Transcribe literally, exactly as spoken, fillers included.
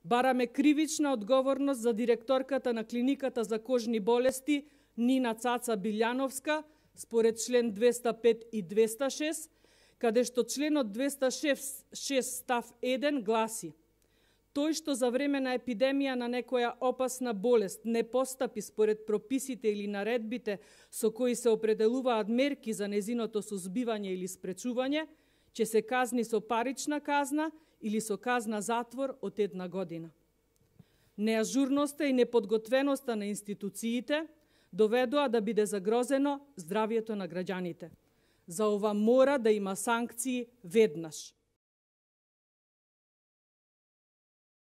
Бараме кривична одговорност за директорката на клиниката за кожни болести Нина Цаца Билјановска според член двеста пет и двеста шест, каде што членот двеста шест став еден гласи: тој што за време на епидемија на некоја опасна болест не постапи според прописите или наредбите со кои се определуваат мерки за незиното сузбивање или спречување, ќе се казни со парична казна или со казна затвор од една година. Неажурноста и неподготвеноста на институциите доведоа да биде загрозено здравјето на граѓаните. За ова мора да има санкции веднаш.